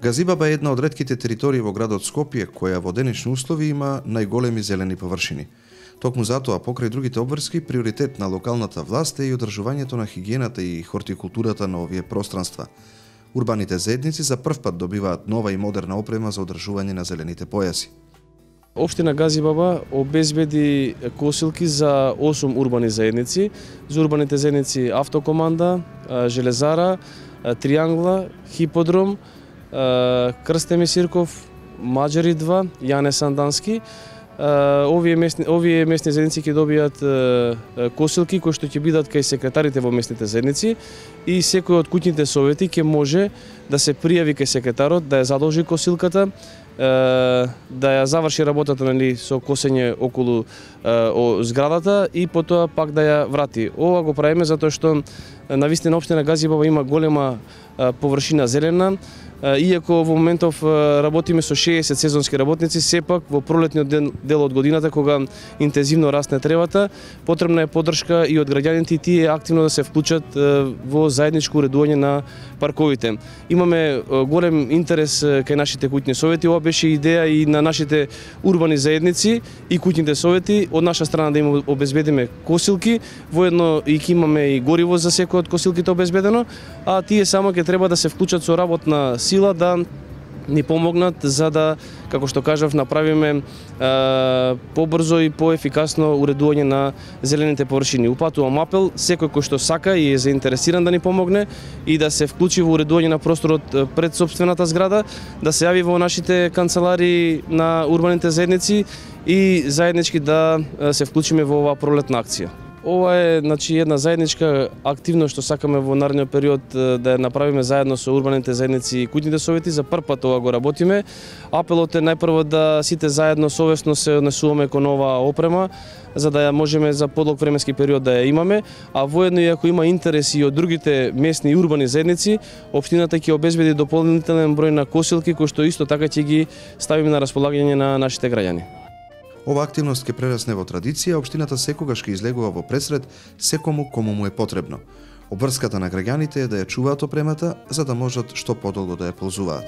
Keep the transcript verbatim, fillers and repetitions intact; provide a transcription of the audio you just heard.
Газибаба е една од ретките територии во градот Скопје која во денешни услови има најголеми зелени површини. Токму затоа, покрај другите обврски, приоритет на локалната власт е и одржувањето на хигиената и хортикултурата на овие пространства. Урбаните заедници за прв пат добиваат нова и модерна опрема за одржување на зелените појаси. Општина Газибаба обезбеди косилки за осум урбани заедници. За урбаните заедници Автокоманда, Железара, Триангла, Хиподром, Крстеми Сирков, Маџари два, Јане Сандански. Овие местни, овие местни заедници ќе добијат косилки кои што ќе бидат кај секретарите во местните заедници и секој од куќните совети ќе може да се пријави кај секретарот, да ја задолжи косилката, да ја заврши работата, нели, со косење околу о, зградата и потоа пак да ја врати. Ова го правиме затоа што навистина општина Газибаба има голема површина зелена. Иако во моментов работиме со шеесет сезонски работници, сепак во пролетниот дел, дел од годината, кога интензивно расне тревата, потребна е поддршка и од граѓаните и тие активно да се вклучат во заедничко уредување на парковите. Имаме голем интерес кај нашите куќни совети. Ова беше идеја и на нашите урбани заедници и куќните совети. Од наша страна да им обезбедиме косилки, воедно и ќе имаме и гориво за секој од косилките обезбедено, а тие само ќе треба да се вклучат со работна сила да ни помогнат за да, како што кажав, направиме е, побрзо и поефикасно уредување на зелените површини. Упатувам апел секој кој што сака и е заинтересиран да ни помогне и да се вклучи во уредување на просторот пред сопствената зграда, да се јави во нашите канцеларии на урбаните заедници и заеднички да се вклучиме во оваа пролетна акција. Ова е, значи, една заедничка активност што сакаме во наредниот период да ја направиме заедно со урбаните заедници и куќните совети. За прв пат ова го работиме. Апелот е најпрво да сите заедно совесно се однесуваме кон оваа опрема, за да ја можеме за подлог временски период да ја имаме, а воедно и ако има интерес и од другите местни и урбани заедници, општината ќе обезбеди дополнителен број на косилки кои што исто така ќе ги ставиме на располагање на нашите граѓани. Ова активност ќе прерасне во традиција, општината секогаш ќе излегува во пресред секому кому му е потребно. Обврската на граѓаните е да ја чуваат опремата, за да можат што подолго да ја ползуваат.